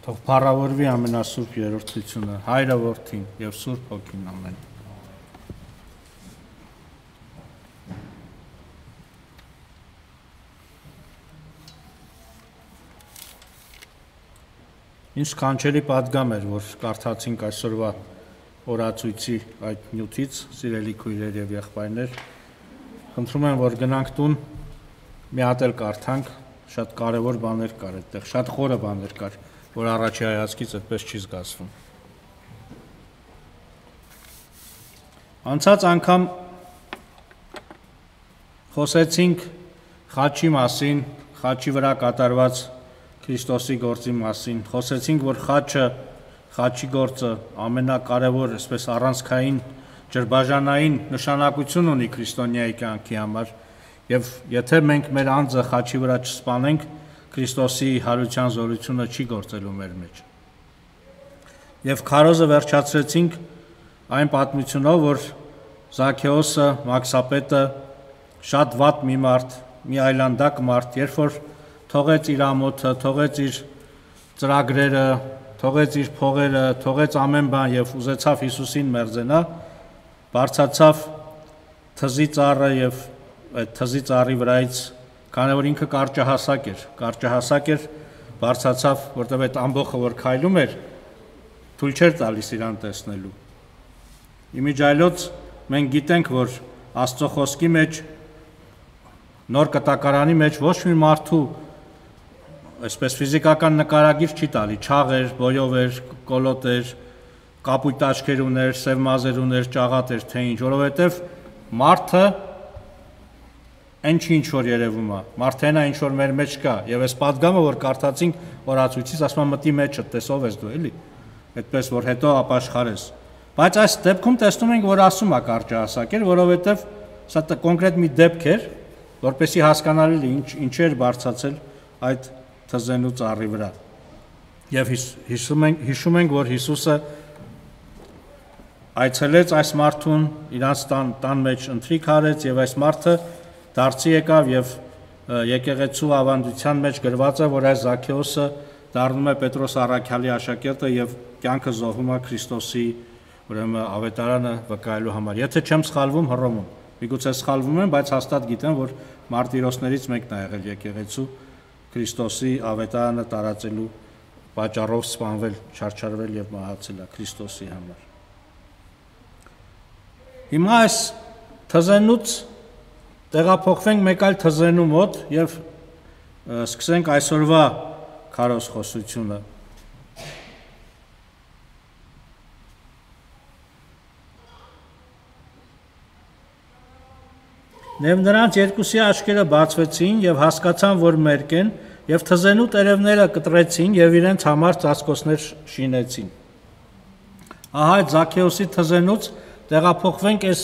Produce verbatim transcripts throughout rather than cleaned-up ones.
Թող փառավորվի ամենասուրբ երրորդությունը, Հայրը Որդին եւ Սուրբ Հոգին, ամեն։ Ինչ կանչելի պատգամ էր, որ կարդացինք այսօրվա օրացույցի այդ նյութից, սիրելի քույրեր եւ եղբայրներ, խնդրում եմ, որ գնանք տուն, մի հատ էլ կարդանք, շատ կարևոր բաներ կար այդտեղ, շատ խորը բաներ կար, որ առաջի հայացքից այդպես չի զգացվում։ Անցած անգամ խոսեցինք խաչի մասին, խաչի վրա կատարված Քրիստոսի գործի մասին, խոսեցինք, որ խաչը, խաչի գործը ամենակարևոր, այսպես առանցքային, ջրբաժանային նշանակություն ունի քրիստոնյայի կյանքի համար, եւ եթե մենք մեր անձը խաչի վրա չսպանենք, Քրիստոսի հարության զորությունը չի գործելու մեր մեջ։ Եվ քարոզը վերջացրեցինք այն պատմությունով, որ Զաքեոսը, Մաքսապետը, շատ վատ մի մարդ, մի այլանդակ մարդ, երբ որ թողեց իր ամոթը, թողեց իր ծրագրերը, թողեց իր փողերը, թողեց ամեն բան եւ ուզեցավ Հիսուսին մերձենա, բարձացավ թզի ծառը եւ այդ թզի ծառի վրայից, քանի որ ինքը կարճահասակ էր, կարճահասակ էր, բարձացավ, որտեղ այդ ամբողջը որ քայլում էր, թույլ չէր տալիս իրան տեսնելու։ Իմիջայլոց մենք գիտենք, որ Աստծո խոսքի մեջ, նոր կտակարանի մեջ ոչ մի մարդու այսպես ֆիզիկական նկարագիր չի տալի, չաղ էր, բոյով էր, կոլոտ էր, կապույտ աչքեր ուներ, սև մազեր ուներ, ճաղատ էր, թե ինչ, որովհետև մարդը այն չի ինչ որ երևում է, մարդենա ինչ որ մեր մեջ կա, եւ այս պատգամը որ կարդացինք օրացույցից, ասում մտի մեջը, տեսով ես դու, էլի, այդպես որ հետո ապաշխարես։ Բայց այս դեպքում տեսնում ենք, որ ասում է կարճահասակ էր, որովհետև սա կոնկրետ մի դեպք էր, որպեսզի հասկանալի լինի ինչ ինչեր բարձացել այդ թզենու ծառի վրա։ Եվ հիշում ենք, հիշում ենք, որ Հիսուսը այցելեց այս մարդուն, իրանց տան, տան մեջ ընթրիք արեց եւ այս մարդը դարձի եկավ եւ եկեղեցու ավանդության մեջ գրված է, որ այս Զաքեոսը դառնում է Պետրոս առաքյալի աշակերտը եւ կյանքը զոհում է Քրիստոսի, ուրեմն ավետարանը վկայելու համար։ Եթե չեմ սխալվում, Հռոմում։ Միգուցե սխալվում եմ, բայց հաստատ գիտեմ, որ մարտիրոսներից մեկն է եղել եկեղեցու Քրիստոսի ավետարանը տարածելու պատճառով սպանվել, չարչարվել եւ մահացել է Քրիստոսի համար։ Հիմա այս թզենուց տեղափոխվենք մեկ այլ թզենու մոտ եւ սկսենք այսօրվա քարոզ խոսությունը։ Եվ նրանց երկուսի աչքերը բացվեցին եւ հասկացան, որ մերկ են, եւ թզենու տերևները կտրեցին եւ իրենց համար ծածկոցներ շինեցին։ Ահա այդ Զաքեոսի թզենուց տեղափոխվենք այս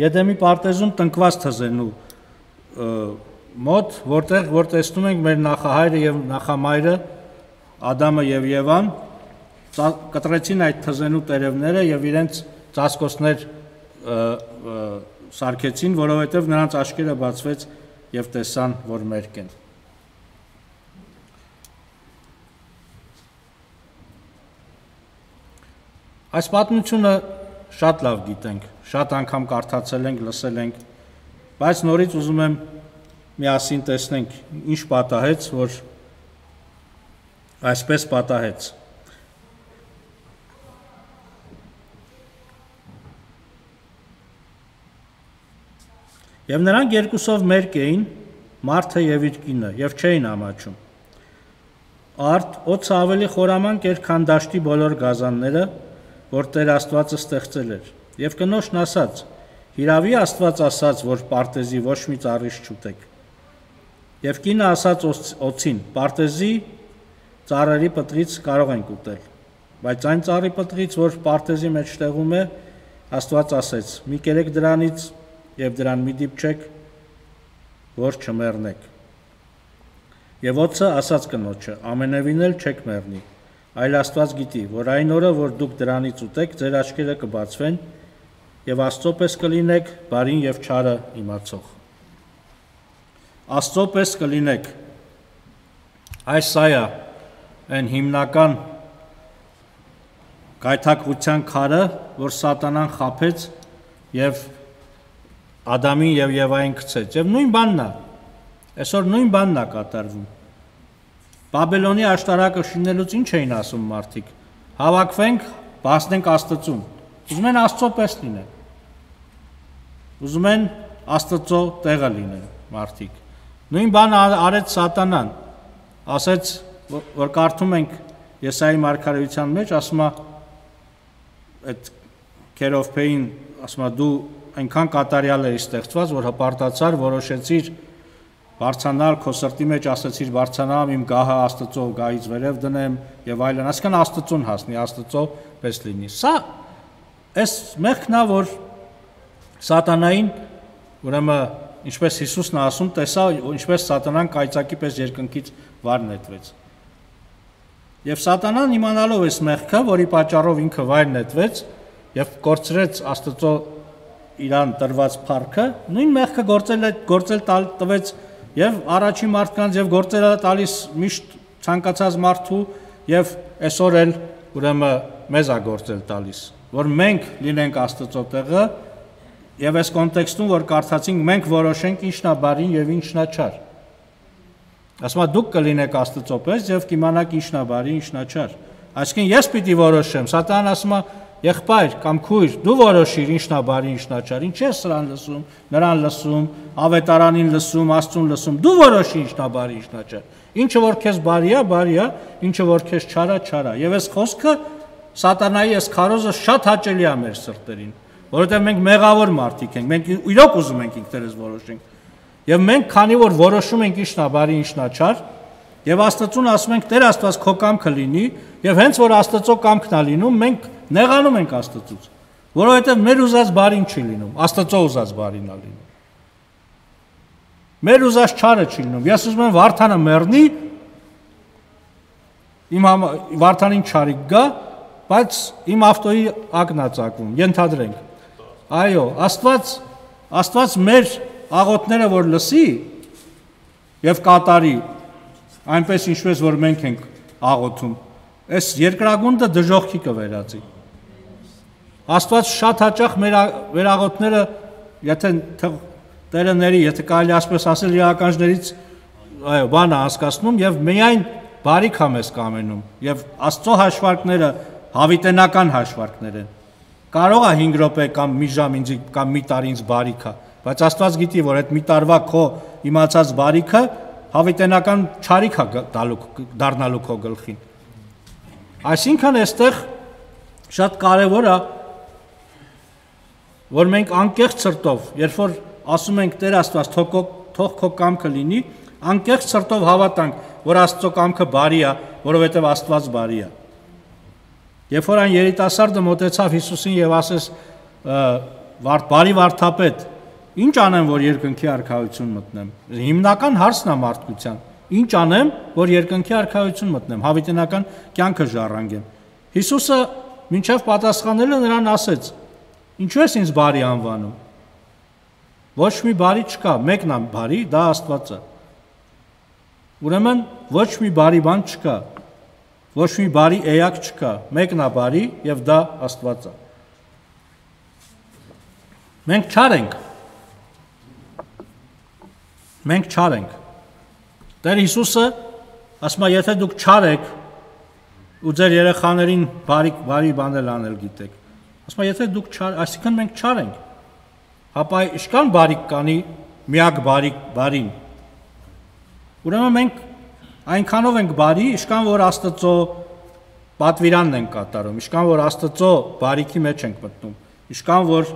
Եդեմի պարտեզում տնկված թզենու մոտ, որտեղ որ տեսնում ենք մեր նախահայրը եւ նախամայրը Ադամը եւ Եվան կտրեցին այդ թզենու տերևները եւ իրենց ծածկոցներ սարքեցին, որովհետև նրանց աչքերը բացվեց եւ տեսան, որ մերկ են։ Այս պատմությունը շատ լավ գիտենք, շատ անգամ կարդացել ենք, լսել ենք, բայց նորից ուզում եմ միասին տեսնենք, ինչ պատահեց, որ այսպես պատահեց։ Եվ նրանք երկուսով մերկ էին, մարդը եւ իր կինը, եւ չէին ամաչում։ Արդ օծը ավելի խորամանկ էր, քան դաշտի բոլոր գազանները, որ Տեր Աստվածը ստեղծել էր։ Եվ կնոջն ասաց. «Հիրավի Աստված ասաց, որ պարտեզի ոչ մի ծառից չուտեք»։ Եվ կինը ասաց օծին. «Պարտեզի ծառերի պտրից կարող ենք ուտել, բայց այն ծառի պտրից, որ պարտեզի մեջտեղում է, Աստված ասեց. մի կերեք դրանից եւ դրան մի դիպչեք, որ չմեռնեք»։ Եվ օծը ասաց կնոջը. «Ամենևին էլ չեք մեռնի, այլ Աստված գիտի, որ այն օրը, որ դուք դրանից ուտեք, ձեր աչքերը կբացվեն եւ Աստծո պես կլինեք, բարին եւ չարը իմացող»։ Աստծո պես կլինեք։ Այս սա է այն հիմնական գայթակղության քարը, որ Սատանան խաբեց եւ Ադամին եւ Եվային գցեց։ Եվ նույն բանն է։ Այսօր նույն բանն է կատարվում։ Բաբելոնի աշտարակը շինելուց ինչ էին ասում մարդիկ։ Հավաքվենք, բացնենք Աստծուն։ Ուզում են Աստծո պես լինեն։ Ուզում են Աստծո տեղը լինեն մարդիկ։ Նույն բանը արեց Սատանան։ Ասեց, որ կարդում ենք Եսայի մարգարեության մեջ, ասում է այդ Քերովբեին, ասում է դու այնքան կատարյալ էի ստեղծված, որ հպարտացար, որոշեցիր բարձանալ քո սրտի մեջ, ասեցիր բարձանամ իմ գահը Աստծո գահից վերև դնեմ եւ այլն, այսքան Աստծուն հասնի, Աստծո պես լինի։ Սա այս մեղքն է, որ Սատանային, ուրեմն ինչպես Հիսուսն է ասում, տեսա ինչպես Սատանան կայծակի պես երկնքից վար նետվեց։ Եվ Սատանան իմանալով այս մեղքը, որի պատճառով ինքը վայր նետվեց եւ կորցրեց Աստծո իրան տրված փառքը, նույն մեղքը գործել է գործել տալ տվեց եւ առաջի մարդկանց եւ գործել է տալիս միշտ ցանկացած մարդու եւ այսօր էլ ուրեմն մեզ է գործել տալիս, որ մենք լինենք Աստծո տեղը եւ այս կոնտեքստում որ կարդացինք մենք որոշենք ինչն է բարին եւ ինչն է չար։ Ասում է դուք կլինեք Աստծո պես եւ կիմանաք ինչն է բարի, ինչն է չար։ Այսինքն ես պիտի որոշեմ։ Սատանան ասում է եղբայր կամ քույր, դու որոշիր ինչն է բարի, ինչն է չար։ Ինչ ես սրան լսում, նրան լսում, ավետարանին լսում, Աստծուն լսում։ Դու որոշի ինչն է բարի, ինչն է չար։ Ինչը որ քեզ բարի է, բարի է, ինչը որ քեզ չար է, չար է։ Եվ այս խոսքը Սատանայի այս քարոզը շատ հաճելի է մեր սրտերին, որովհետև մենք մեղավոր մարդիկ ենք, մենք իրոք ուզում ենք ինքներս որոշենք։ Եվ մենք քանի որ որոշում ենք ինչն է բարի, ինչն է չար, եւ Աստծուն ասում ենք Տեր Աստված քո կամքը լինի, եւ հենց որ Աստծո կամքն է լինում, մենք նեղանում ենք Աստծուց, որովհետև մեր ուզած բարին չի լինում, Աստծո ուզած բարին է լինում։ Մեր ուզած չարը չի լինում։ Ես ուզում եմ Վարդանը մեռնի, իմ Վարդանին չարիք գա, բայց իմ ավտոյի ակն է ծակվում, ենթադրենք։ Այո, Աստված Աստված մեր աղոթները որ լսի եւ կատարի, այնպես ինչպես որ մենք ենք աղոթում, այս երկրագունդը դժոխքի կվերածի։ Աստված շատ հաճախ մեր մեր աղոթները, եթե Տերը ների, եթե կարելի ասպես ասել, իրականներից այո, բանը հասկացնում եւ միայն բարիք է մեզ կամենում եւ Աստծո հաշվարկները հավիտենական հաշվարկներ են։ Կարող է հինգ րոպե կամ մի ժամ ինձ կամ մի տարի ինձ բարիք է, բայց Աստված գիտի, որ այդ մի տարվա քո իմացած բարիքը հավիտենական չարիք է դառնալու քո գլխին։ Այսինքն այստեղ շատ կարևոր է, որ մենք անկեղծ սրտով, երբ որ ասում ենք Տեր Աստված, թող քո կամքը լինի, անկեղծ սրտով հավատանք, որ Աստծո կամքը բարի է, որովհետև Աստված բարի է։ Երբ որ այն երիտասարդը մոտեցավ Հիսուսին եւ ասեց. «Բարի վարդապետ, ինչ անեմ, որ երկնքի արքայություն մտնեմ»։ Հիմնական հարցն է մարդկության. ինչ անեմ, որ երկնքի արքայություն մտնեմ, հավիտենական կյանքը ժառանգեմ։ Հիսուսը մինչև պատասխանելը նրան ասեց. «Ինչու ես ինձ բարի անվանում։ Ոչ մի բարի չկա, մեկն է բարի, դա Աստված է։ Ուրեմն ոչ մի բարի բան չկա, ոչ մի բարի էակ չկա, մեկն է բարի եւ դա Աստված է։ Մենք չար ենք։ Մենք չար ենք։ Տեր Հիսուսը ասում է, եթե դուք չար եք ու ձեր երեխաներին բարի բարի բաներ անել գիտեք, ասում է, եթե դուք չար, այսինքն մենք չար ենք, ապա իշքան բարիք կանի միակ բարիք բարին։ Ուրեմն մենք այնքանով ենք բարի, իշքան որ Աստծո պատվիրանն ենք կատարում, իշքան որ Աստծո բարիքի մեջ ենք մտնում, իշքան որ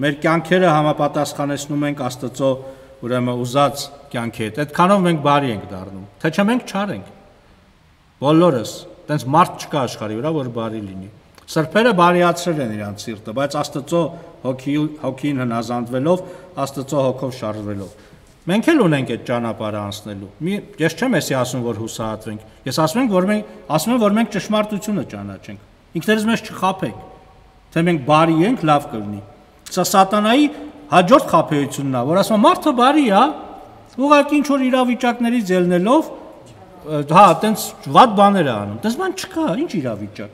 մեր կյանքերը համապատասխանեցնում ենք Աստծո ուրեմն ուզած կյանքի հետ, այդքանով մենք բարի ենք դառնում, թե չէ մենք չար ենք։ Բոլորս, տենց մարդ չկա աշխարհի վրա, որ բարի լինի։ Սրբերը բարիացրել են իրանց սիրտը, բայց Աստծո հոգի հոգին հնազանդվելով, Աստծո հոգով շարժվելով։ Մենք էլ ունենք այդ ճանապարհը անցնելու։ Ես չեմ էսի ասում, որ հուսահատվենք։ Ես ասում եմ, որ մենք ասում եմ, որ մենք ճշմարտությունը ճանաչենք։ Ինքներս մեզ չխաբենք, թե մենք բարի ենք, լավ կլինի։ Սա Սատանայի հաջորդ խաբեությունն է, որ ասում է մարդը բարի է, ուղղակի ինչ որ իրավիճակներից ելնելով, հա, տենց վատ բաներ է անում։ Դες բան չկա, ինչ իրավիճակ։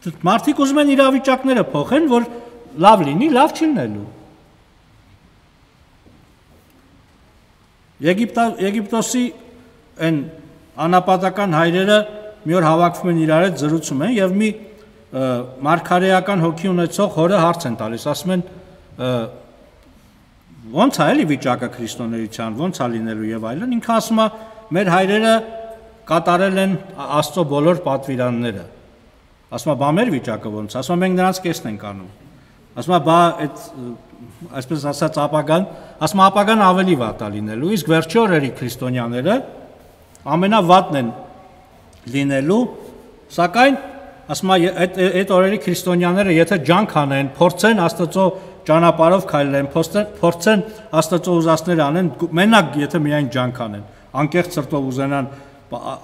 Մարդիկ ուզում են իրավիճակները փոխեն, որ լավ լինի, լավ չի լինելու։ Եգիպտոսի այն անապատական հայրերը մի օր հավաքվում են իրար հետ զրուցում են եւ մի մարգարեական հոգի ունեցող հորը հարց են տալիս, ասում են ո՞նց է էլի վիճակը քրիստոնեության, ո՞նց է լինելու եւ այլն։ Ինքը ասում է մեր հայրերը կատարել են Աստծո բոլոր պատվիրանները։ Ասում է բա մեր վիճակը ո՞նց է։ Ասում է մենք նրանց կեսն ենք անում։ Ասում է բա այդ այսպես ասած ապագան, ասում է ապագան ավելի վատ է լինելու, իսկ վերջի օրերի քրիստոնյաները ամենավատն են լինելու, սակայն ասում է այդ այդ օրերի քրիստոնյաները եթե ջանք անեն, փորձեն Աստծո ճանապարհով քայլեն, փորձեն Աստծո ուզածները անեն, մենակ եթե միայն ջանք անեն, անկեղծ սրտով ուզենան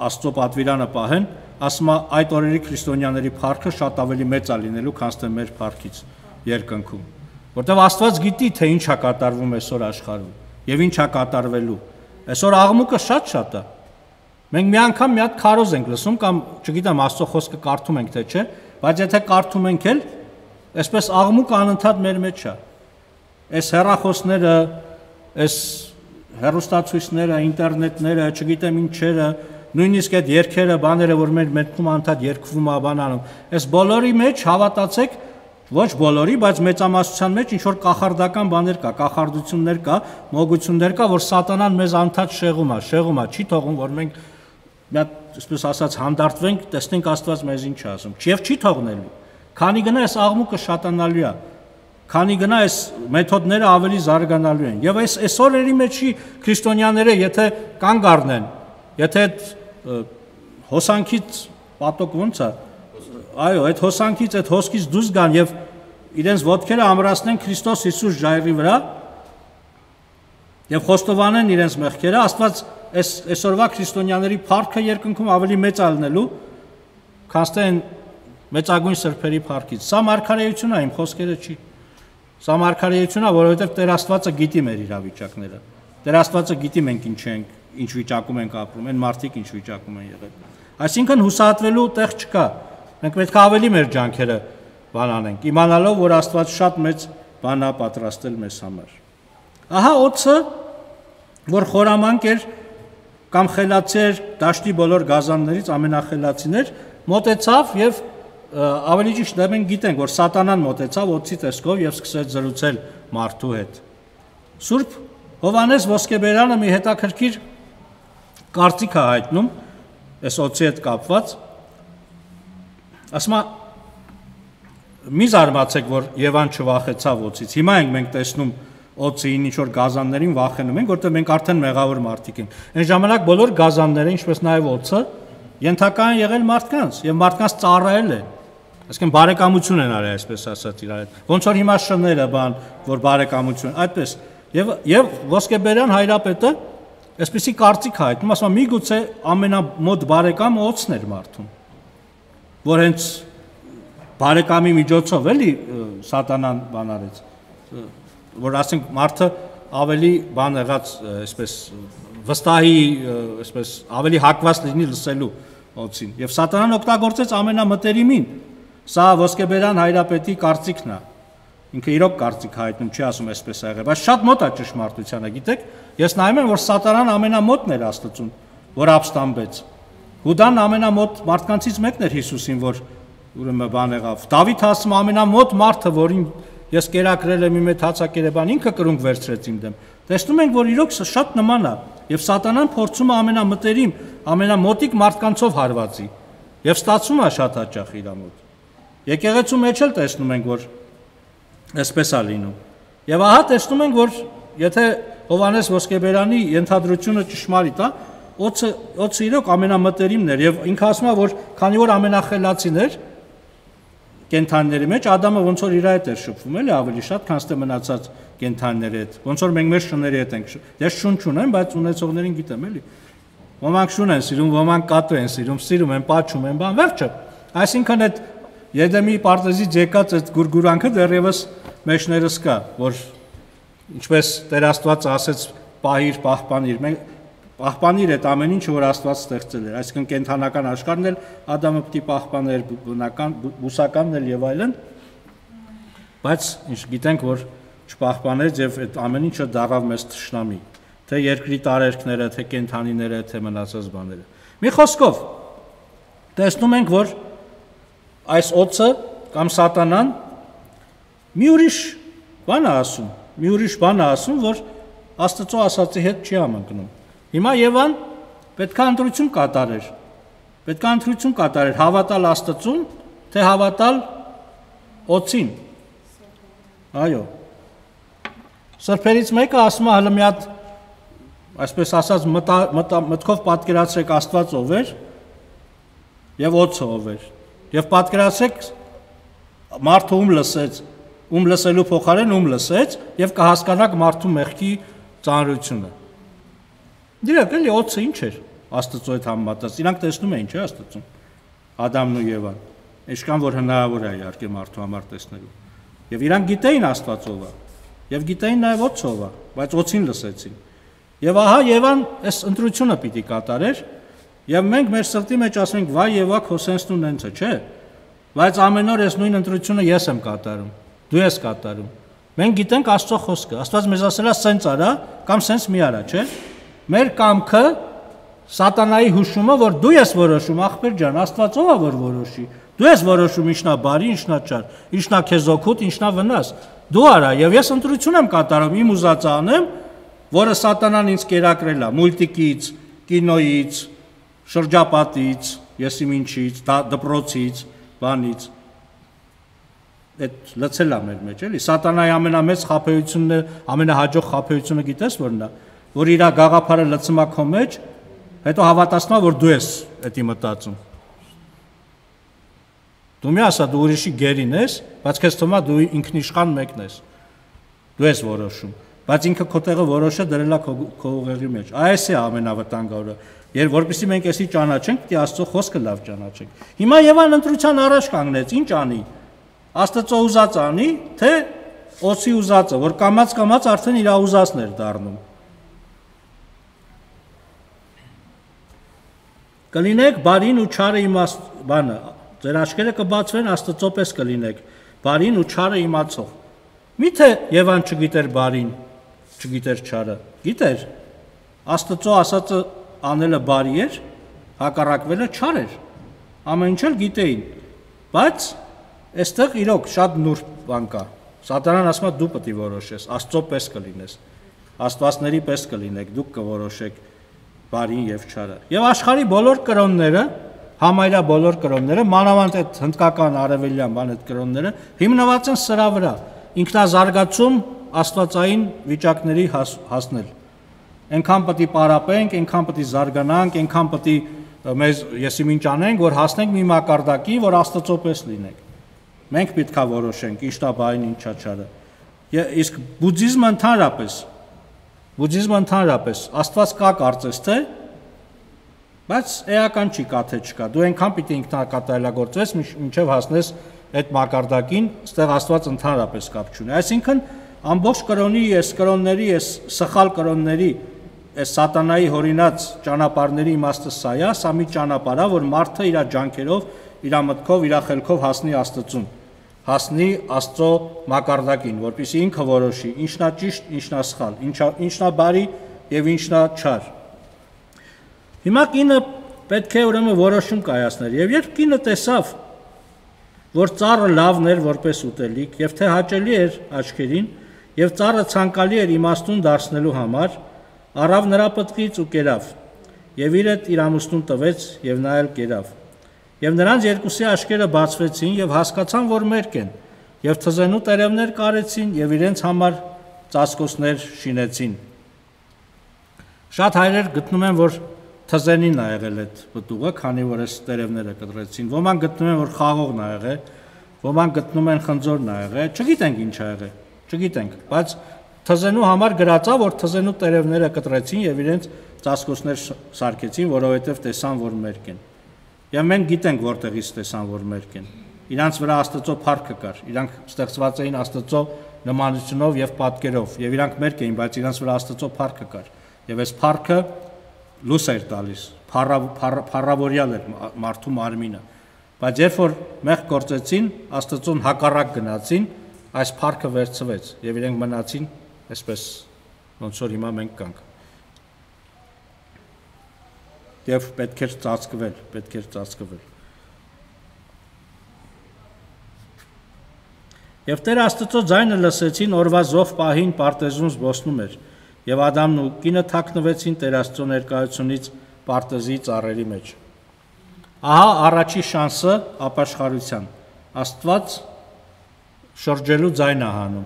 Աստծո պատվիրանը պահեն, ասում է այդ օրերի քրիստոնյաների փառքը շատ ավելի մեծ է լինելու, քան թե մեր փառքից երկնքում, որտեղ Աստված գիտի թե ինչ է կատարվում այսօր աշխարհում եւ ինչ է կատարվելու։ Այսօր աղմուկը շատ-շատ է։ Մենք մի անգամ մի հատ քարոզ ենք լսում կամ չգիտեմ Աստծո խոսքը կարդում ենք թե չէ, բայց եթե կարդում ենք էլ, այսպես աղմուկը անընդհատ մեր մեջ է։ Այս հեռախոսները, այս հեռուստացույցները, ինտերնետները, չգիտեմ ինչերը, նույնիսկ այդ երգերը, բաները, որ մեր մտքում անընդհատ երգվում է, բան անում, այս բոլորի մեջ հավատացեք, ոչ բոլորի, բայց մեծամասնության մեջ ինչ որ կախարդական բաներ կա, կախարդություններ կա, մոգություններ կա, որ սատանան մեզ անընդհատ շեղում է, շեղում է, չի թողում, որ մենք մի հատ, այսպես ասած, հանդարտվենք, տեսնենք Աստված մեզ ինչ է ասում, եւ չի թողնելու։ Քանի գնա այս աղմուկը շատանալու է, քանի գնա այս մեթոդները ավելի զարգանալու են։ Եվ այս այսօրերի մեջի քրիստոնյաները եթե կանգ առնեն, եթե այդ հոսանքից պատոկ ոնց է, այո, այդ հոսանքից, այդ հոսքից դուրս գան եւ իրենց ոտքերը ամրացնեն Քրիստոս Հիսուս ժայռի վրա եւ խոստովանեն իրենց մեղքերը, Աստված այս այսօրվա քրիստոնյաների փառքը երկնքում ավելի մեծ է լինելու, քան թե մեծագույն սրբերի փառքից։ Սա մարգարեություն է, իմ խոսքերը չի։ Սա մարգարեություն է, որովհետև Տեր Աստվածը գիտի մեր իրավիճակները։ Տեր Աստվածը գիտի մենք ինչ ենք, ինչ վիճակում ենք ապրում, այն մարդիկ ինչ վիճակում են եղել։ Այսինքն հուսահատվելու տեղ չկա։ Մենք պետք է ավելի մեր ջանքերը բան անենք, իմանալով, որ Աստված շատ մեծ բան է պատրաստել մեզ համար։ Ահա օձը, որ խորամանկ էր կամ խելացի էր դաշտի բոլոր գազաններից ամենախելացին էր, մոտեցավ եւ ավելի ճիշտ է մենք գիտենք, որ սատանան մոտեցավ օձի տեսքով եւ սկսեց զրուցել մարդու հետ։ Սուրբ Հովհաննես Ոսկեբերյանը մի հետաքրքիր կարծիք է հայտնում այս օձի հետ կապված։ Ասում է մի զարմացեք, որ Եվան չվախեցավ օձից։ Հիմա ենք մենք տեսնում օձին ինչ որ գազաններին վախենում ենք, որտեղ մենք արդեն մեղավոր մարդիկ ենք։ Այն ժամանակ բոլոր գազանները, ինչպես նաև օձը, ենթակա են եղել մարդկանց եւ մարդկանց ծառայել են։ Այսինքն բարեկամություն են արել, այսպես ասած իրար հետ։ Ոնց որ հիմա շները բան, որ բարեկամություն, այդպես։ Եվ եւ Ոսկեբերյան հայրապետը այսպեսի կարծիք հայտնում, ասում է միգուցե ամենամոտ բարեկամը օձն էր մարդուն, որ հենց բարեկամի միջոցով էլի սատանան բան արեց, որ ասենք մարդը ավելի բան եղած, այսպես վստահի, այսպես ավելի հակված լինի լսելու օձին։ Եվ սատանան օգտագործեց ամենամտերիմին։ Սա Ոսկեբերյան հայրապետի կարծիքն է։ Ինքը իրոք կարծիք հայտնում, չի ասում այսպես ա եղել, բայց շատ մոտ է ճշմարտությանը, գիտեք։ Ես նայում եմ, որ սատանան ամենամոտն էր Աստծուն, որ ապստամբեց։ Հուդան ամենամոտ մարդկանցից մեկն էր Հիսուսին, որ ուրեմն բան եղավ։ Դավիթ ասում ամենամոտ մարդը, որին ես կերակրել եմ իմ այդ հացակերեբան, ինքը կրունկ վերցրեց իմ դեմ։ Տեսնում ենք, որ իրոք շատ նման է, եւ սատանան փորձում է ամենամտերիմ, ամենամոտիկ մարդկանցով հարվածի, եւ ստացվում է շատ հաճախ իր մոտ։ Եկեղեցու մեջ էլ տեսնում ենք, որ այսպես է լինում։ Եվ ահա տեսնում ենք, որ եթե Հովհաննես Ոսկեբերյանի ենթադրությունը ճշմարիտ է, օձը օձը իրոք ամենամտերիմն էր եւ ինքը ասում է, որ քանի որ ամենախելացին էր կենթանիների մեջ, Ադամը ոնց որ իր հետ էր շփվում, էլի ավելի շատ, քան թե մնացած կենթանիների հետ։ Ոնց որ մենք մեր շների հետ ենք։ Ես շուն չունեմ, բայց ունեցողներին գիտեմ, էլի։ Ոմանք շուն են սիրում, ոմանք կատու են սիրում, սիրում են, պաչում են, բան, վերջը։ Այսինքն այդ Եդեմի պարտեզից եկած այդ գուրգուրանքը դեռևս մեջներս կա, որ ինչպես Տեր Աստված ասեց, պահիր, պահպանիր, մենք պահպանիր այդ ամեն ինչը, որ Աստված ստեղծել էր, այսինքն կենդանական աշխարհն էլ Ադամը պիտի պահպաներ, բնական, բուսականն էլ եւ այլն, բայց ինչ գիտենք, որ չպահպանեց եւ այդ ամեն ինչը դառավ մեզ թշնամի, թե երկրի տարերքները, թե կենդանիները, թե մնացած բաները։ Մի խոսքով տեսնում ենք, որ այս օծը կամ սատանան մի ուրիշ բան է ասում, մի ուրիշ բան է ասում, որ Աստծո ասածի հետ չի համընկնում։ Հիմա Եվան պետք է ընտրություն կատարեր։ Պետք է ընտրություն կատարեր հավատալ Աստծուն, թե հավատալ օծին։ Այո։ Սրբերից մեկը ասում է հələ մի հատ, այսպես ասած, մտքով պատկերացրեք Աստված ով էր եւ օծը ով էր։ Եվ պատկերացրեք մարդը ում լսեց, ում լսելու փոխարեն ում լսեց եւ կհասկանաք մարդու մեղքի ծանրությունը։ Դիրակ էլի օծը ինչ էր Աստծո հետ համեմատած։ Իրանք տեսնում էին, չէ՞, Աստծուն։ Ադամն ու Եվան։ Ինչքան որ հնարավոր է իհարկե մարդու համար տեսնելու։ Եվ իրանք գիտեին Աստված ով է։ Եվ գիտեին նաև օծը ով է, բայց օծին լսեցին։ Եվ ահա Եվան այս ընտրությունը պիտի կատարեր, եւ մենք մեր սրտի մեջ ասում ենք՝ վայ Եվա, քո սենսն ու նենցը, չէ՞։ Բայց ամեն օր այս նույն ընտրությունը ես եմ կատարում, դու ես կատարում։ Մենք գիտենք Աստծո խոսքը։ Աստված մեզ ասել է սենց արա կամ սենց մի արա, չէ՞։ Մեր կամքը սատանայի հուշումը, որ դու ես որոշում, ախպեր ջան, Աստված ով է որ որոշի։ Դու ես որոշում ինչնա բարի, ինչնա չար, ինչնա քեզ օգուտ, ինչնա վնաս։ Դու արա, եւ ես ընտրություն եմ կատարում, իմ ուզածը անեմ, որը սատանան ինձ կերակրել է մուլտիկից, կինոյից, շրջապատից, եսի ինչից, դպրոցից, բանից։ Այդ լցել է մեր մեջ, էլի։ Սատանայի ամենամեծ խաբեությունը, ամենահաջող խաբեությունը գիտես որն է, որ իր գաղափարը լցում է քո մեջ, հետո հավատացնում է, որ դու ես դա մտածում։ Դու մի ասա, դու ուրիշի գերին ես, բայց քեզ թվում է դու ինքնիշխան մեկն ես։ Դու ես որոշում, բայց ինքը քո տեղը որոշը դրել է քո ուղեղի մեջ։ Այս է ամենավտանգավորը։ Երբ որպեսզի մենք էսի ճանաչենք, պիտի Աստծո խոսքը լավ ճանաչենք։ Հիմա Եվան ընտրության առաջ կանգնեց, ինչ անի։ Աստծո ուզածը անի, թե օծի ուզածը, որ կամած-կամած արդեն իր ուզածն էր դառնում։ Կլինեք բարին ու չարը իմաստ բանը, ձեր աչքերը կբացվեն Աստծո պես կլինեք, բարին ու չարը իմացող։ Միթե Եվան չգիտեր բարին, չգիտեր չարը, գիտեր։ Աստծո ասածը անելը բարի էր, հակառակվելը չար էր։ Ամեն ինչ էլ գիտեին։ Բայց այստեղ իրոք շատ նուրբ բան կա։ Սատանան ասում է դու պետք է որոշես, Աստծո պես կլինես, աստվածների պես կլինեք, դուք կորոշեք բարին եւ չարը։ Եվ աշխարհի բոլոր կրոնները, համայնա բոլոր կրոնները, մանավանդ այդ հնդկական արևելյան բան այդ կրոնները հիմնված են սրա վրա։ Ինքնազարգացում աստվածային վիճակների հասնել։ Այնքան պետք է պարապենք, այնքան պետք է զարգանանք, այնքան պետք է մեզ եսիմինչ անենք, որ հասնենք մի մակարդակի, որ Աստծո պես լինենք։ Մենք պետք է որոշենք ինչն է բարին, ինչա չարը։ Իսկ բուդդիզմը ընդհանրապես, բուդդիզմը ընդհանրապես Աստված կա կարծես թե, բայց էական չի կա թե չկա։ Դու այնքան պիտի ինքնակատարելագործվես, մինչև հասնես այդ մակարդակին, ստեղ Աստված ընդհանրապես կապ չունի։ Այսինքն ամբողջ կրոնի, այս կրոնների, այս սխալ կրոնների, այս սատանայի հորինած ճանապարհների իմաստը սա է, սա մի ճանապարհ է, որ մարդը իր ջանքերով, իր մտքով, իր խելքով հասնի Աստծուն, հասնի Աստծո մակարդակին, որպեսզի ինքը որոշի, ինչն է ճիշտ, ինչն է սխալ, ինչն է բարի եւ ինչն է չար։ Հիմա կինը պետք է ուրեմն որոշում կայացներ, եւ երբ կինը տեսավ, որ ծառը լավն էր որպես ուտելիք եւ թե հաճելի էր աչքերին եւ ծառը ցանկալի էր իմաստուն դարձնելու համար, առավ նրա պտղից ու կերավ եւ իր հետ իր ամուսնուն տվեց եւ նա էլ կերավ եւ նրանց երկուսի աչքերը բացվեցին եւ հասկացան, որ մերկ են եւ թզենու տերևներ կարեցին եւ իրենց համար ծածկոցներ շինեցին։ Շատ հայրեր գտնում են, որ թզենին ա եղել այդ պտուղը, քանի որ այս տերևները կտրեցին։ Ոմանք գտնում են, որ խաղողն ա եղել, ոմանք գտնում են խնձորն ա եղել, չգիտենք ինչ ա եղել, չգիտենք, բայց թզենու համար գրած է, որ թզենու տերևները կտրեցին եւ իրենց ծածկոցներ սարքեցին, որովհետեւ տեսան, որ մերկ են։ Եվ մենք գիտենք որտեղից տեսան, որ մերկ են։ Իրանց վրա Աստծո փառքը կար, իրանք ստեղծված էին Աստծո նմանությունով եւ պատկերով, եւ իրանք մերկ էին, բայց իրանց վրա Աստծո փառքը կար։ Եվ այս փառքը լույս էր տալիս, փառավորյալ էր մարդու մարմինը, բայց երբ որ մեղք գործեցին, Աստծուն հակառակ գնացին, այս փառքը վերցվեց եւ իրենք մնացին այսպես ոնց որ հիմա մենք կանք։ Եվ պետք էր ծածկվել, պետք էր ծածկվել։ Եվ Տեր Աստծո ձայնը լսեցին օրվա զով պահին պարտեզում զբոսնում էր, եւ Ադամն ու կինը թաքնվեցին Տեր Աստծո ներկայությունից պարտեզի ծառերի մեջ։ Ահա առաջի շանսը ապաշխարության։ Աստված շրջելու ձայն է հանում,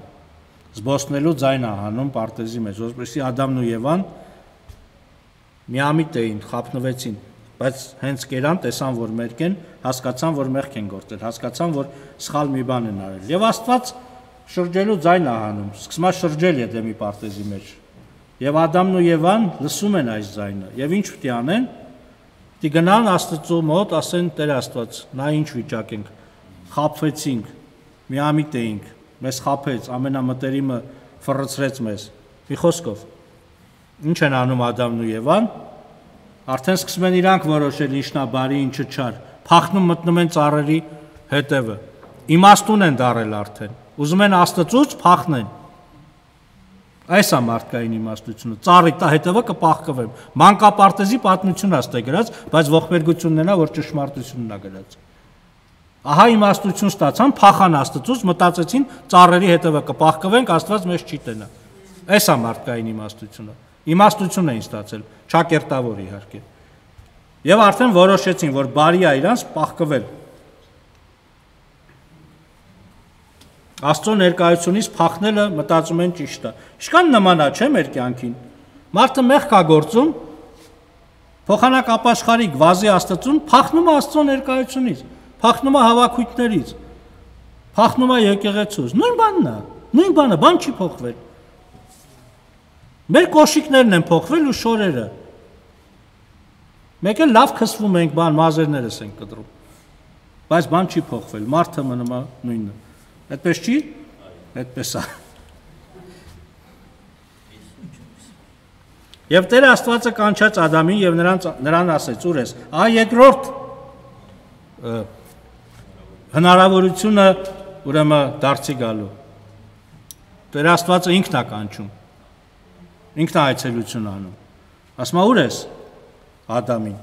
զբոսնելու ձայն է հանում պարտեզի մեջ, որովհետեւ Ադամն ու Եվան միամիտ էին, խափնվեցին, բայց հենց կերան, տեսան, որ մերկ են, հասկացան, որ մեղք են գործել, հասկացան, որ սխալ մի բան են արել։ Եվ Աստված շրջելու ձայն է հանում, սկսում է շրջել Եդեմի պարտեզի մեջ։ Եվ Ադամն ու Եվան լսում են այս ձայնը, եւ ինչ պետք է անեն։ Դի գնան Աստծո մոտ, ասեն Տեր Աստված, նա ինչ վիճակ ենք, խափվեցինք, միամիտ էինք, մեզ խափեց, ամենամտերիմը ֆռցրեց մեզ։ Մի խոսքով, ինչ են անում Ադամն ու Եվան, արդեն սկսում են իրանք որոշել ինչն է բարի, ինչը չար, փախնում մտնում են ծառերի հետևը, իմաստուն են դարել արդեն, ուզում են Աստծուց փախնեն։ Այս է մարդկային իմաստությունը, ծառի տա հետևը կփախկվեմ, մանկապարտեզի պատմություն աստ է գրած, բայց ողբերգությունն է, որ ճշմարտությունն է գրած։ Ահա իմաստություն ստացան, փախան Աստծուց, մտածեցին ծառերի հետևը կփախկվենք, Աստված մեզ չի տենա։ Այս է մարդկային իմաստությունը։ Իմաստություն էին ստացել, ճակերտավոր իհարկե։ Եվ արդեն որոշեցին, որ բարի է իրանց փախկվել։ Աստծո ներկայությունից փախնելը մտածում են ճիշտ է։ Ինչքան նման է, չէ՞ մեր կյանքին։ Մարդը մեղք է գործում, փոխանակ ապաշխարիկ վազի Աստծուն, փախնում է Աստծո ներկայությունից, փախնում է հավաքույթներից, փախնում է եկեղեցուց։ Նույն բանն է, նույն բանը, բան չի փոխվել։ Մեր կոշիկներն են փոխվել ու շորերը։ Մեկ էլ լավ քսվում ենք, բան մազերներս ենք կտրում։ Բայց բան չի փոխվել, մարդը մնում է նույնը։ Այդպես չի։ Այդպես է։ Եվ Տեր Աստվածը կանչեց Ադամին եւ նրան նրան ասեց. «Ուր ես»։ Ահա երկրորդ հնարավորությունը ուրեմն դարձի գալու։ Տեր Աստվածը ինքն է կանչում։ Ինքն է այցելություն անում։ Ասում է՝ «Ուր ես»։ Ադամին։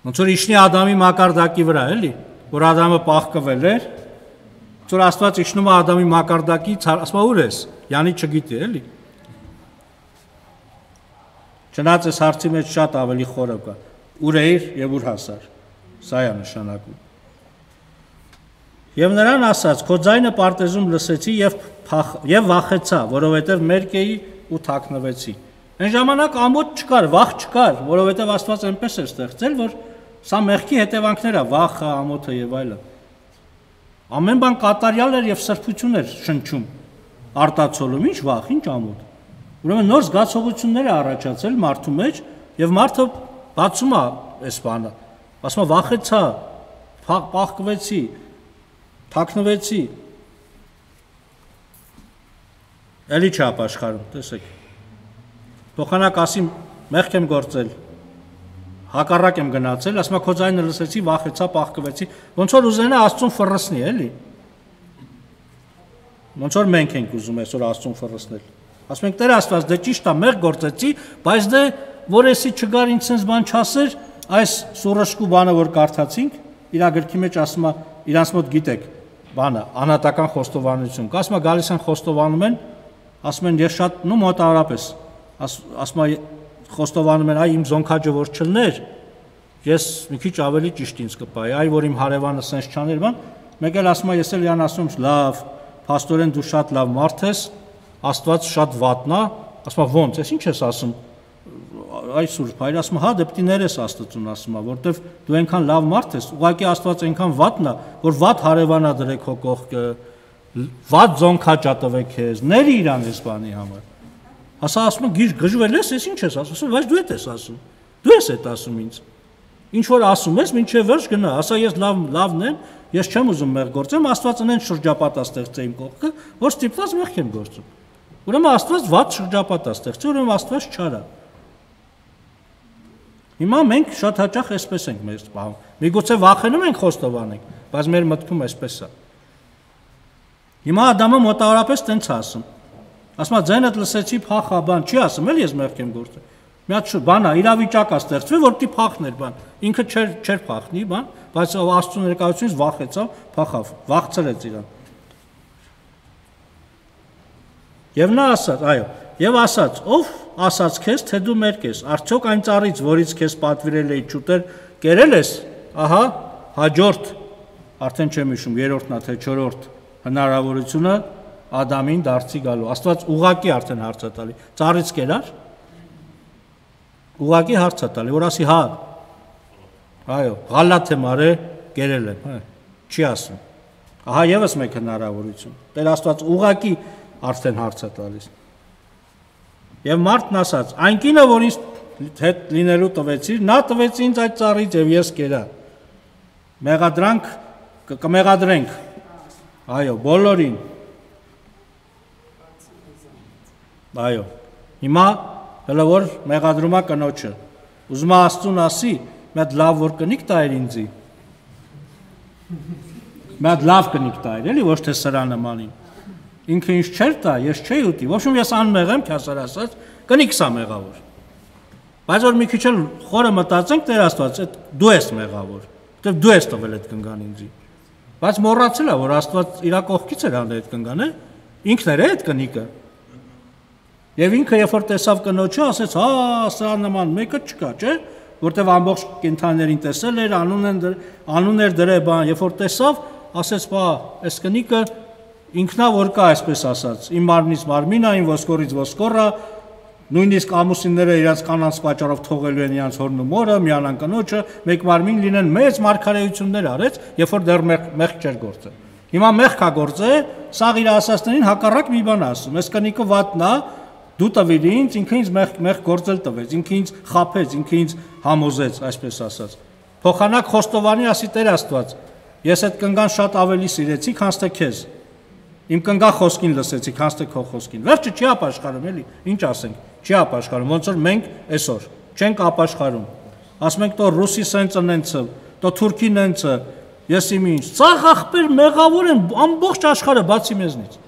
Ոնց որ իջնի Ադամի մակարդակի վրա, էլի, որ Ադամը պաղկվել էր, որ Աստված իջնում է Ադամի մակարդակից, ասում է՝ «Ուր ես»։ Յանի չգիտի, էլի։ Չնայած այս հարցի մեջ շատ ավելի խորը կա։ Ուր էիր եւ ուր հասար։ Սա է նշանակում։ Եվ նրան ասաց. «Քո ձայնը պարտեզում լսեցի եւ եւ վախեցա, որովհետեւ մերկ էի ու թաքնվեցի»։ Այն ժամանակ ամոթ չկար, վախ չկար, որովհետեւ Աստված այնպես էր ստեղծել, որ սա մեղքի հետևանքներ է, վախը, ամոթը եւ այլն։ Ամեն բան կատարյալ էր եւ սրբություն էր շնչում, արտացոլում, ինչ վախ, ինչ ամոթ։ Ուրեմն նոր զգացողություններ է առաջացել մարդու մեջ եւ մարդը բացում է այս բանը։ Ասում է՝ վախեցա, պաղկվեցի, թաքնվեցի։ Էլի չապաշխարում, տեսեք։ Փոխանակ ասի մեղք եմ գործել, հակառակ եմ գնացել, ասում է քո ձայնը լսեցի, վախեցա, պաղկվեցի, ոնց որ ուզենա Աստծուն ֆռսնի, էլի։ Ոնց որ մենք ենք ուզում այսօր Աստծուն ֆռսնել։ Ասում ենք Տեր Աստված, դե ճիշտ է, մեղք գործեցի, բայց դե որ էսի չգար ինձ sense բան չասեր, այս սուրշկու բանը որ կարդացինք, իր գրքի մեջ ասում է, իրանց մոտ գիտեք, բանը, անհատական խոստովանություն կա, ասում է գալիս են խոստովանում են, ասում են ես շատ, նո մոտավորապես, ասում է խոստովանում են, այ իմ զոնքաճը որ չլներ, ես մի քիչ ավելի ճիշտ ինձ կպայի, այ որ իմ հարևանը sense չաներ բան, մեկ էլ ասում է ես էլ յան ասում լավ, փաստորեն դու շատ լավ մարդ ես, Աստված շատ վատնա, ասում է ոնց, ես ինչ ես ասում, այ Սուրբ Հայր, ասում է հա դե պիտի ներես Աստծուն, ասում է, որտեվ դու այնքան լավ մարդ ես, ուղղակի Աստված այնքան վատնա, որ վատ հարևանա դրեք քո կողքը, վատ զոնքաճա տվեք քեզ, ների իրան այս բանի համար։ Ասա ասում է գիժ գժվել ես, ես ինչ ես ասում, բայց դու ես ես ասում, դու ես այդ ասում ինձ։ Ինչ որ ասում ես, մինչև վերջ գնա, ասա ես լավ լավն եմ, ես չեմ ուզում մեղք գործեմ, Աստված ունեն շրջապատա ստեղծե իմ կողքը, որ ստիպված մեղք եմ գործում։ Ուրեմն Աստված վատ շրջապատա ստեղծի, ուրեմն Աստված չարա։ Հիմա մենք շատ հաճախ այսպես ենք մեզ պահում։ Միգուցե վախենում ենք խոստովանենք, բայց մեր մտքում այսպես է։ Հիմա Ադամը մոտավորապես տենց ասում։ Ասում է ձայնդ լսեցի փախա բան, չի ասում, էլ ես մեղք եմ գործել։ Մի հատ բան է, իրավիճակ է ստեղծվել, որ պիտի փախներ բան։ Ինքը չէր չէր փախնի բան, բայց Աստծո ներկայությունից վախեցավ, փախավ, վախցրեց իրան։ Եվ նա ասաց, այո, եւ ասաց, ով ասաց քեզ, թե դու մերկ ես, արդյոք այն ծառից, որից քեզ պատվիրել էի չուտել, կերել ես, ահա, հաջորդ, արդեն չեմ հիշում, երրորդն է թե չորրորդ հնարավորությունը Ադամին դարձի գալու։ Աստված ուղակի արդեն հարց է տալի։ Ծառից կերար։ Ուղակի հարց է տալի, որ ասի հա։ Այո, գալաթ եմ արել, կերել եմ, հա, չի ասում։ Ահա եւս մեկ հնարավորություն։ Տեր Աստված ուղակի արդեն հարց է տալիս։ Եվ մարդն ասաց. այն կինը, որ ինձ հետ լինելու տվեցիր, նա տվեց ինձ այդ ծառից եւ ես կերա։ Մեղադրանք կմեղադրենք։ Այո, բոլորին։ Այո։ Հիմա հələ որ մեղադրում է կնոջը։ Ուզում է Աստծուն ասի, մի հատ լավ որ կնիկ տայր ինձի։ Մի հատ լավ կնիկ տայր, էլի ոչ թե սրա նմանին։ Ինքը ինձ չէր տա, ես չէի ուտի։ Ոչ ոմ ես անմեղ եմ, քասար ասած, կնիկ սա մեղավոր։ Բայց որ մի քիչ էլ խորը մտածենք, Տեր Աստված, այդ դու ես մեղավոր, որտեվ դու ես տվել այդ կնգան ինձի։ Բայց մոռացել է, որ Աստված իր կողքից էր անում այդ կնգանը, ինքն էր այդ կնիկը։ Եվ ինքը երբ որ տեսավ կնոջը, ասեց, հա, սրա նման մեկը չկա, չէ՞, որտեվ ամբողջ կենդաններին տեսել էր, անուն են անուն էր դրել բան, երբ որ տեսավ, ասեց, բա, այս կնիկը ինքնա որ կա, այսպես ասած, իմ մարմնից մարմին է, իմ ոսկորից ոսկորը, նույնիսկ ամուսինները իրաց կանանց պատճառով թողելու են իրաց հորն ու մորը, միանան կնոջը, մեկ մարմին լինեն, մեծ մարգարեություններ արեց, երբ որ դեռ մեղք չէր գործել։ Հիմա մեղք է գործել, սաղ իր ասածներին հակառակ մի բան ասում, այս կնիկը վատնա, դու տվիր ինձ, ինքը ինձ մեղք գործել տվեց, ինքը ինձ խաբեց, ինքը ինձ համոզեց, այսպես ասած։ Փոխանակ խոստովանի ասի Տեր Աստված, ես այդ կնգան շատ ավելի սիրեցի, քան թե քեզ։ Իմ կնգա խոսքին լսեցի, քան թե քո խոսքին։ Վերջը չի ապաշխարում, էլի, ինչ ասենք, չի ապաշխարում, ոնց որ մենք այսօր չենք ապաշխարում։ Ասում ենք, տո ռուսի սենց ընենցը, տո թուրքին ընենցը, ես իմ ինչ, ծաղ ախպեր մեղավոր են ամբողջ աշխարհը բացի մեզնից։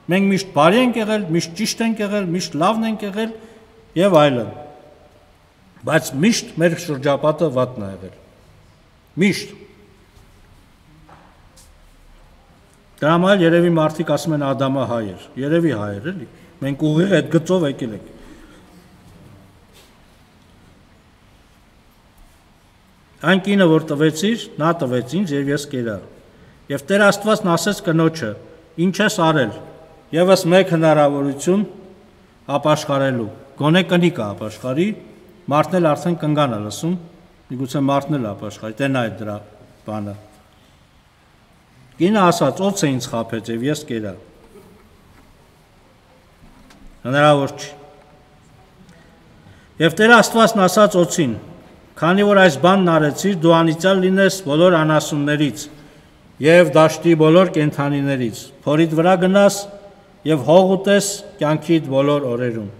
Մենք միշտ բարի ենք եղել, միշտ ճիշտ ենք եղել, միշտ լավն ենք եղել եւ այլն։ Բայց միշտ մեր շրջապատը վատն է եղել։ Միշտ։ Դրա համար երևի մարդիկ ասում են Ադամը հայ էր, երևի հայ էր, էլի։ Մենք ուղիղ այդ գծով եկել ենք։ Այն կինը, որ տվեցիր, նա տվեց ինձ եւ ես կերա։ Եվ Տեր Աստվածն ասեց կնոջը. ինչ ես արել։ Եվս մեկ հնարավորություն ապաշխարելու։ Գոնե կնիկը ապաշխարի, մարդն էլ արդեն կնգան է լսում, միգուցե մարդն էլ ապաշխարի, տենա է դրա բանը։ Կինը ասաց, ո՞ց է ինձ խաբեց եւ ես կերա։ Հնարավոր չի։ Եվ Տեր Աստվածն ասաց օծին. քանի որ այս բանն արեցիր, դու անիծյալ լինես բոլոր անասուններից եւ դաշտի բոլոր կենդանիներից, փորիդ վրա գնաս եւ հող ուտես կյանքիդ բոլոր օրերում։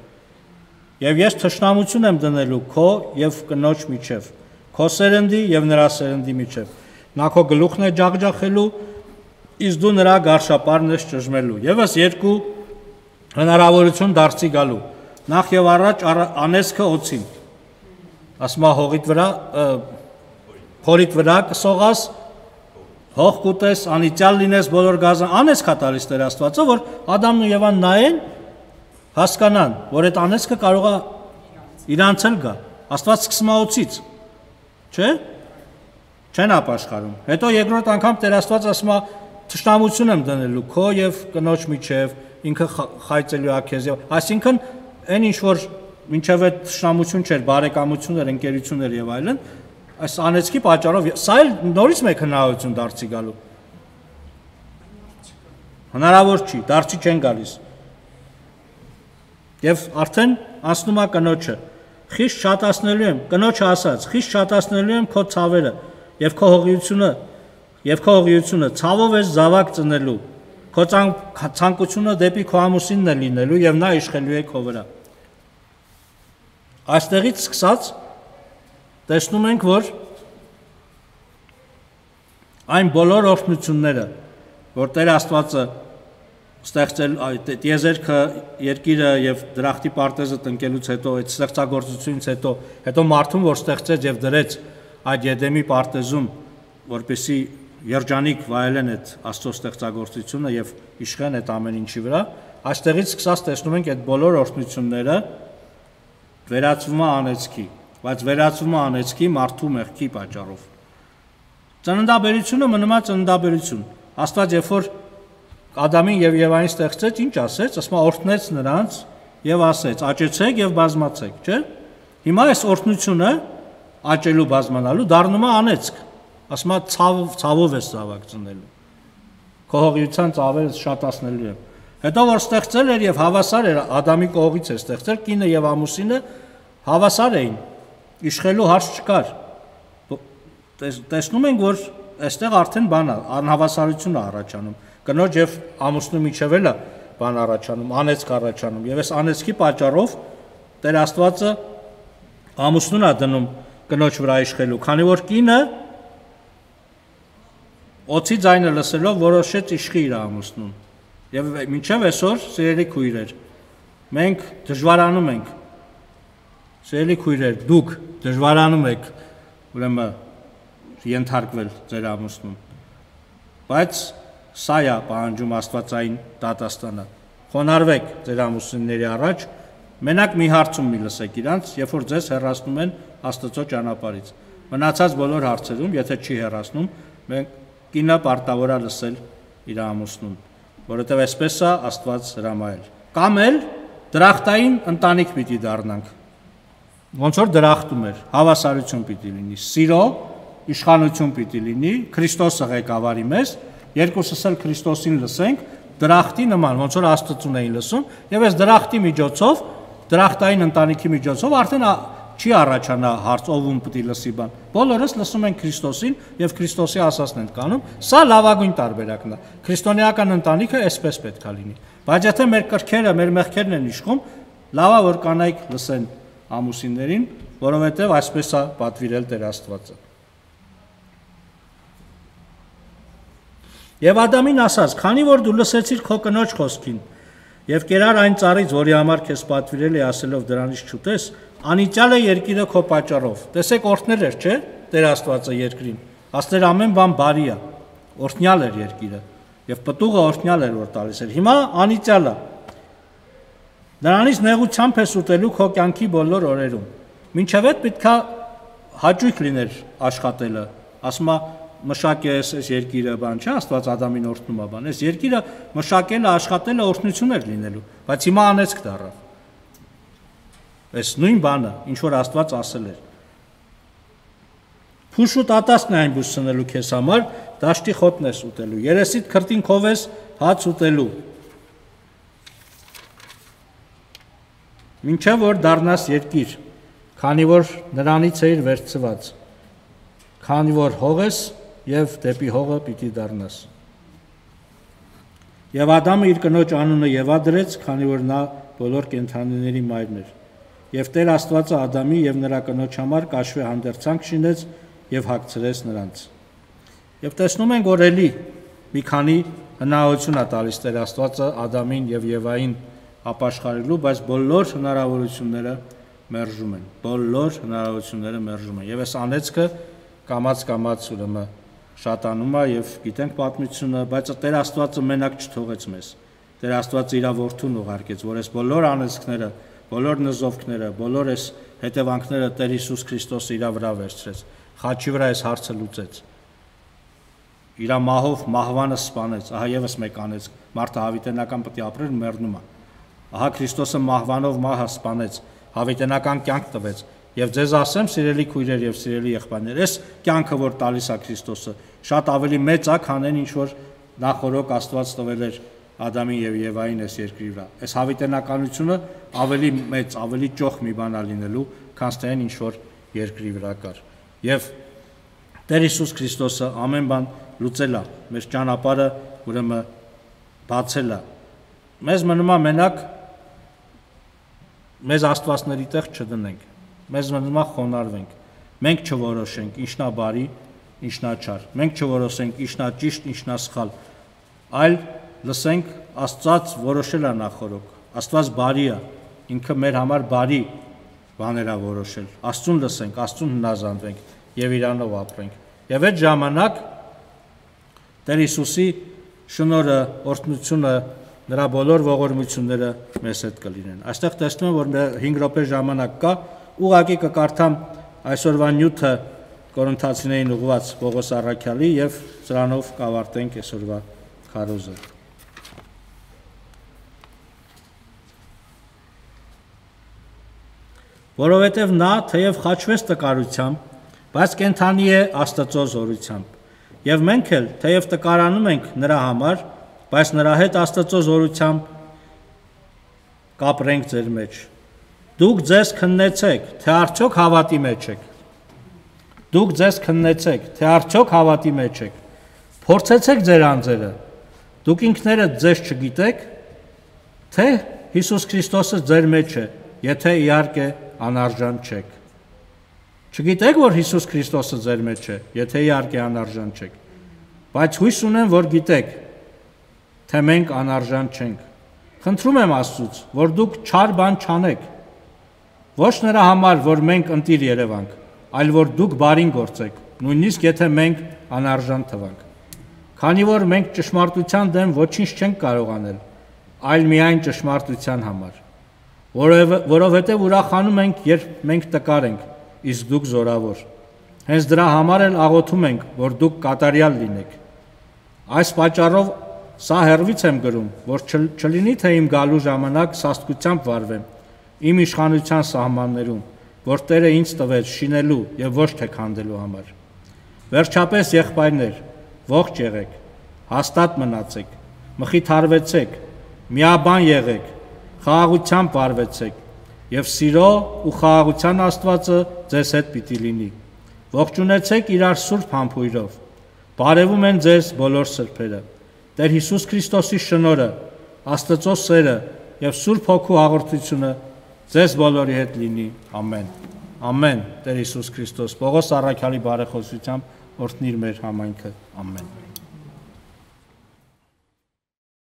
Եվ ես թշնամություն եմ դնելու քո եւ կնոջ միջև, քո սերնդի եւ նրա սերնդի միջև։ Նա քո գլուխն է ջախջախելու, իսկ դու նրա գարշապարն ես ճժմելու։ Եվս երկու հնարավորություն դարձի գալու։ Նախ եւ առաջ անեսքը օծին։ Ասма հողիդ վրա, փորիդ վրա կսողաս, հող կուտես, անիծյալ լինես բոլոր գազան, անեսք է տալիս Տեր Աստվածը, որ Ադամն ու Եվան նայեն, հասկանան, որ այդ անեսքը կարող է իրանց էլ գա։ Աստված սկսում է օծից, չէ՞։ Չեն ապաշխարում։ Հետո երկրորդ անգամ Տեր Աստված ասում է թշնամություն եմ դնելու քո եւ կնոջ միջև, ինքը խայծելու է քեզ եւ այսինքն այն ինչ որ մինչև այդ թշնամություն չէր, բարեկամություն էր, ընկերություններ եւ այլն, այս անեցքի պատճառով սա էլ նորից մեկ հնարավորություն դարձի գալու։ Հնարավոր չի, դարձի չեն գալիս։ Եվ արդեն անցնում է կնոջը։ Խիստ շատացնելու եմ, կնոջը ասաց, խիստ շատացնելու եմ քո ցավերը եւ քո հողիությունը, եւ քո հողիությունը ցավով ես զավակ ծնելու։ Քո ցանկությունը դեպի քո ամուսինն է լինելու եւ նա իշխելու է քո վրա։ Այստեղից սկսած տեսնում ենք, որ այն բոլոր օրհնությունները, որ Տեր Աստվածը ստեղծել տիեզերքը, երկիրը եւ դրախտի պարտեզը տնկելուց հետո, այդ ստեղծագործությունից հետո, հետո մարդուն, որ ստեղծեց եւ դրեց այդ Եդեմի պարտեզում, որպեսզի երջանիկ վայելեն այդ Աստծո ստեղծագործությունը եւ իշխեն այդ ամեն ինչի վրա, այստեղից սկսած տեսնում ենք այդ բոլոր օրհնությունները վերածվում է անեծքի, բայց վերածվում է անեծքի մարդու մեղքի պատճառով։ Ծննդաբերությունը մնում է ծննդաբերություն։ Աստված երբ որ Ադամին եւ Եվային ստեղծեց, ինչ ասեց, ասма օրհնեց նրանց եւ ասեց. աճեցեք եւ բազմացեք, չէ՞։ Հիմա այս օրհնությունը աճելու բազմանալու դառնում է անեծք։ Ասма ցավ ցավով է զավակցնելու։ Քո հողիության ցավերը շատացնելու եմ։ Հետո որ ստեղծել էր եւ հավասար էր Ադամի կողից է ստեղծել, կինը եւ ամուսինը հավասար էին, իշխելու հարց չկար։ Տեսնում ենք, որ այստեղ արդեն բան է, անհավասարություն է առաջանում։ Կնոջ եւ ամուսնու միջև էլ է բան առաջանում, անեծք առաջանում, եւ այս անեծքի պատճառով Տեր Աստվածը ամուսնուն է դնում կնոջ վրա իշխելու, քանի որ կինը օծի ձայնը լսելով որոշեց իշխի իր ամուսնուն։ Եվ մինչև այսօր, սիրելի քույրեր, մենք դժվարանում ենք, սիրելի քույրեր, դուք դժվարանում եք, ուրեմն ենթարկվել ձեր ամուսնուն, բայց սա է պահանջում Աստվածային դատաստանը։ Խոնարհվեք ձեր ամուսինների առաջ, մենակ մի հարցում մի լսեք իրանց, երբ որ ձեզ հեռացնում են Աստծո ճանապարհից։ Մնացած բոլոր հարցերում, եթե չի հեռացնում, մենք կինը պարտավոր է լսել իր ամուսնուն, որովհետև այսպես է Աստված հրամայել։ Կամ էլ դրախտային ընտանիք պիտի դառնանք։ Ոնց որ դրախտում էր, հավասարություն պիտի լինի, սիրո, իշխանություն պիտի լինի, Քրիստոսը ղեկավարի մեզ, երկուսս էլ Քրիստոսին լսենք, դրախտի նման, ոնց որ Աստծուն էին լսում, եւ այս դրախտի միջոցով, դրախտային ընտանիքի միջոցով արդեն չի առաջանա հարց ով պիտի լսի բան։ Բոլորս լսում ենք Քրիստոսին եւ Քրիստոսի ասածն ենք կանում։ Սա լավագույն տարբերակն է։ Քրիստոնեական ընտանիքը այսպես պետք է լինի։ Բայց եթե մեր կրքերը, մեր մեղքերն են իշխում, լավա որ կանայք լսեն ամուսիններին, որովհետեւ այսպես է պատվիրել Տեր Աստվածը։ Եվ Ադամին ասաց. «Քանի որ դու լսեցիր քո կնոջ խոսքին եւ կերար այն ծառից, որի համար քեզ պատվիրել է ասելով դրանից չուտես, անիծյալ է երկիրը քո պատճառով»։ Տեսեք, օրհնել էր, չէ՞, Տեր Աստվածը երկրին։ Աստեր ամեն բան բարի է։ Օրհնյալ էր երկիրը եւ պտուղը օրհնյալ էր որ տալիս էր։ Հիմա անիծյալ է։ Նրանից նեղությամբ ես ուտելու քո կյանքի բոլոր օրերում։ Մինչև այդ պետքա հաճույք լիներ աշխատելը։ Ասում է մշակես այս երկիրը բան չէ, Աստված Ադամին օրհնում է բան։ Այս երկիրը մշակելը, աշխատելը օրհնություն էր լինելու, բայց հիմա անեծք դառավ։ Այս նույն բանը, ինչ որ Աստված ասել էր։ Փուշու տատասն է այն բուսցնելու քեզ համար, դաշտի խոտն ես ուտելու, երեսիդ քրտինքով ես հաց ուտելու։ Մինչև որ դառնաս երկիր, քանի որ նրանից էիր վերցված, քանի որ հող ես եւ դեպի հողը պիտի դառնաս։ Եվ Ադամը իր կնոջ անունը Եվա դրեց, քանի որ նա բոլոր կենդանիների մայրն էր։ Եվ Տեր Աստվածը Ադամի եւ նրա կնոջ համար կաշվե հանդերձանք շինեց եւ հագցրեց նրանց։ Եվ տեսնում ենք, որ էլի մի քանի հնարավորություն է տալիս Տեր Աստվածը Ադամին եւ Եվային ապաշխարելու, բայց բոլոր հնարավորությունները մերժում են։ Բոլոր հնարավորությունները մերժում են։ Եվ այս անեծքը կամած-կամած ուրեմն շատանում է եւ գիտենք պատմությունը, բայց Տեր Աստվածը մենակ չթողեց մեզ։ Տեր Աստվածը իր որդուն ուղարկեց, որ այս բոլոր անեծքները, բոլոր նզովքները, բոլոր այս հետևանքները Տեր Հիսուս Քրիստոսը իր վրա վերցրեց։ Խաչի վրա այս հարցը լուծեց։ Իր մահով մահվանը սպանեց։ Ահա եւս մեկ անեծք։ Մարդը հավիտենական պետք է ապրեր, մեռնում է։ Ահա Քրիստոսը մահվանով մահը սպանեց, հավիտենական կյանք տվեց։ Եվ ձեզ ասեմ, սիրելի քույրեր եւ սիրելի եղբայրներ, այս կյանքը, որ տալիս է Քրիստոսը, շատ ավելի մեծ է, քան այն ինչ որ նախորոք Աստված տվել էր Ադամին եւ Եվային այս երկրի վրա։ Այս հավիտենականությունը ավելի մեծ, ավելի ճոխ մի բան է լինելու, քան թե այն ինչ որ երկրի վրա կար։ Եվ Տեր Հիսուս Քրիստոսը ամեն բան լուծել է, մեր ճանապարհը ուրեմն բացել է։ Մեզ մնում է մենակ մեզ աստվածների տեղ չդնենք։ Մեզ մնում է խոնարհվենք։ Մենք չորոշենք ինչն է բարի, ինչն է չար։ Մենք չորոշենք ինչն է ճիշտ, ինչն է սխալ, այլ լսենք Աստված որոշել է նախորոք։ Աստված բարի է, ինքը մեր համար բարի բաներ է որոշել։ Աստծուն լսենք, Աստծուն հնազանդվենք եւ իրանով ապրենք։ Եվ այդ ժամանակ Տեր Հիսուսի շնորհը, օրհնությունը, նրա բոլոր ողորմությունները մեզ հետ կլինեն։ Այստեղ տեսնում եմ, որ հինգ րոպե ժամանակ կա, ուղղակի կկարդամ այսօրվա նյութը Կորինթացիներին ուղղված Պողոս առաքյալի եւ սրանով կավարտենք այսօրվա քարոզը։ Որովհետև նա թեև խաչվեց տկարությամբ, բայց կենդանի է Աստծո զորությամբ։ Եվ մենք էլ թեև տկարանում ենք նրա համար, բայց նրա հետ Աստծո զորությամբ կապրենք ձեր մեջ։ Դուք ձեզ քննեցեք, թե արդյոք հավատի մեջ եք։ Դուք ձեզ քննեցեք, թե արդյոք հավատի մեջ եք։ Փորձեցեք ձեր անձերը։ Դուք ինքներդ ձեզ չգիտեք, թե Հիսուս Քրիստոսը ձեր մեջ է, եթե իհարկե անարժան չեք։ Չգիտեք, որ Հիսուս Քրիստոսը ձեր մեջ է, եթե իհարկե անարժան չեք։ Բայց հույս ունեմ, որ գիտեք, թե մենք անարժան չենք։ Խնդրում եմ Աստծուց, որ դուք չար բան չանեք։ Ոչ նրա համար, որ մենք ընտիր երևանք, այլ որ դուք բարին գործեք, նույնիսկ եթե մենք անարժան թվանք։ Քանի որ մենք ճշմարտության դեմ ոչինչ չենք կարող անել, այլ միայն ճշմարտության համար։ Որովհետև ուրախանում ենք, երբ մենք տկար ենք, իսկ դուք զորավոր։ Հենց դրա համար էլ աղոթում ենք, որ դուք կատարյալ լինեք։ Այս պատճառով սա հեռվից եմ գրում, որ չլինի թե իմ գալու ժամանակ սաստկությամբ վարվեմ, իմ իշխանության սահմաններում, որ Տերը ինձ տվեց շինելու եւ ոչ թե քանդելու համար։ Վերջապես, եղբայրներ, ողջ եղեք, հաստատ մնացեք, մխիթարվեցեք, միաբան եղեք, խաղաղությամբ վարվեցեք, եւ սիրո ու խաղաղության Աստվածը ձեզ հետ պիտի լինի։ Ողջունեցեք իրար սուրբ համբույրով։ Բարևում են ձեզ բոլոր սրբերը։ Տեր Հիսուս Քրիստոսի շնորհը, Աստծո սերը եւ Սուրբ Հոգու հաղորդությունը ձեզ բոլորի հետ լինի։ Ամեն։ Ամեն։ Տեր Հիսուս Քրիստոս Պողոս առաքյալի բարեխոսությամբ օրհնիր մեր համայնքը։ Ամեն։